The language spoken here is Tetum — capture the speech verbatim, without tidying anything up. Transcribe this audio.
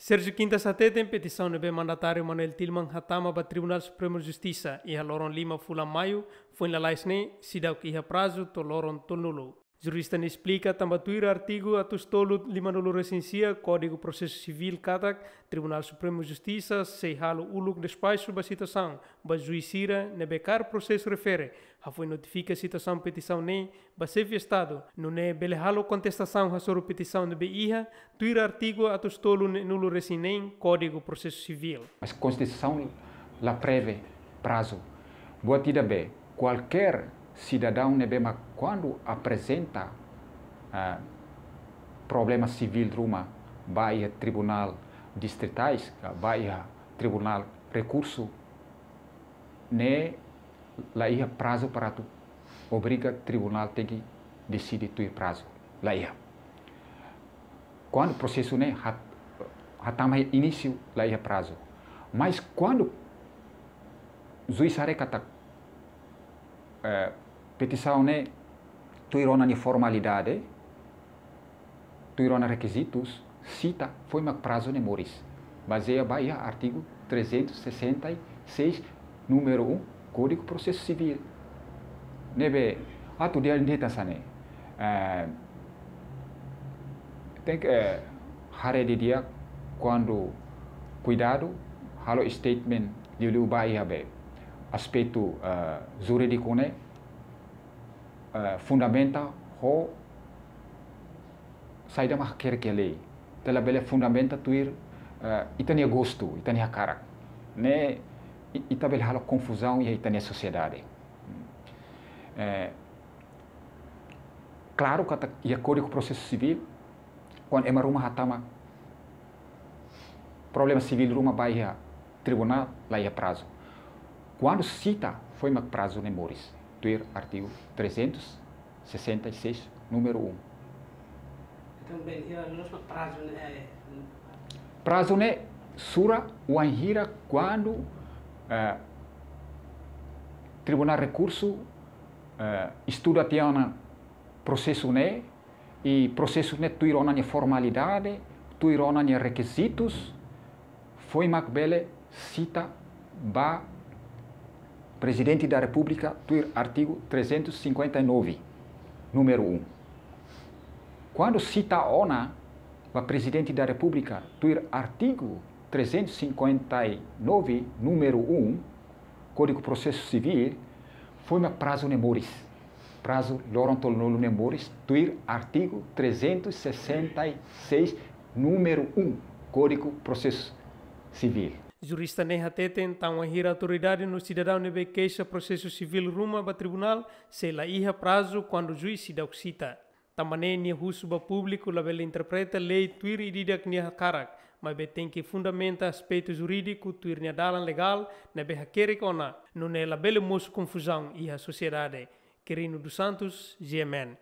Sérgio Quintas hateten petisaun ne'ebé mandatáriu Manoel Tilman hatama ba Tribunál Supremu Justisa iha loron lima fulan Maiu, foin lalais ne'e seidauk iha prazu to'o loron tolunulu. Jurista ne'e esplika tanba tuir artigu atus tolu limanulu resin sia Kódigu Prosesu Sivíl katak Tribunál Supremu Justisa sei halo uluk despaxu ba situasaun ba juís sira ne'ebé kaer prosesu refere hafoin notifika situasaun petisaun ne'e ba Xefe Estadu, nune'e bele halo kontestasaun hasoru petisaun ne'ebé iha, tuir artigu atus tolu neenulu resin neen Kódigu Prosesu Sivíl. Mas Konstituisaun la prevee prazu. Buat ida be, kualkér sidadaun ne'ebé mak kuandu aprezenta, ah, problema sivíl ruma ba iha tribunál distritais, ka ba iha tribunál rekursu, ne'e la iha prazu para atu obriga tribunál tenke deside tuir prazu. La iha. Kuandu prosesu ne'e hat-, hatama inísiu, la iha prazu. Mas kuandu juís haree katak, eh, petisaun ne'e tuir ona nia formalidade, tuir ona rekizitus, sita, foin mak prazu ne'e moris. Bazeia ba iha artigu trezentos e sessenta e seis, númeru um, Kódigu Prosesu Sivíl. Ne'ebé, atu di'ak ne'e hanesan ne'e. Eh, tenke, eh, haree didi'ak kuandu kuidadu, halo statement liuliu ba iha be aspetu, eh, jurídiku ne'e, eh, fundamenta ho saida mak hakerek iha lei. Ita labele fundamenta tuir, eh, ita-nia gostu, ita-nia hakarak. Ne'e i-, ita bele halo konfuzaun iha ita-nia sosiedade. Eh, klaru katak iha Kódigu Prosesu Sivíl, kuandu ema ruma hatama problema sivíl ruma ba iha tribunál, la iha prazu. Kuandu sita, foin mak prazu ne'e moris, tuir artigu trezentos e sessenta e seis, númeru um. Entaun, bem, iha loos mak prazu ne'e, eh, prazu ne'e sura wainhira kuandu, eh, tribunál rekursu, eh, estuda tiha ona prosesu ne'e, i prosesu ne'e tuir ona nia formalidade, tuir ona nia rekizitus, foin mak bele sita ba Prezidente da Repúblika tuir artigu trezentos e cinquenta e nove, númeru um. Kuandu sita ona ba Prezidente da Repúblika tuir artigu trezentos e cinquenta e nove, númeru um, Kódigu Prosesu Sivíl, foin mak prazu ne'e moris. Prazu loron tolunulu ne'e moris, tuir artigu trezentos e sessenta e seis, númeru um, Kódigu Prosesu Sivíl. Jurista ne'e hateten, tan wainhira autoridade no sidadaun ne'ebé keixa prosesu sivíl ruma ba tribunál, sei la iha prazu kuandu juís seidauk sita. Tanba ne'e nia husu ba públiku labele interpreta lei tuir ida-idak nia hakarak, maibé tenke fundamenta aspetu jurídiku tuir nia dalan legál ne'ebé hakerek ona, nune'e labele mosu konfuzaun iha sosiedade. Quirino dos Santos, G M N.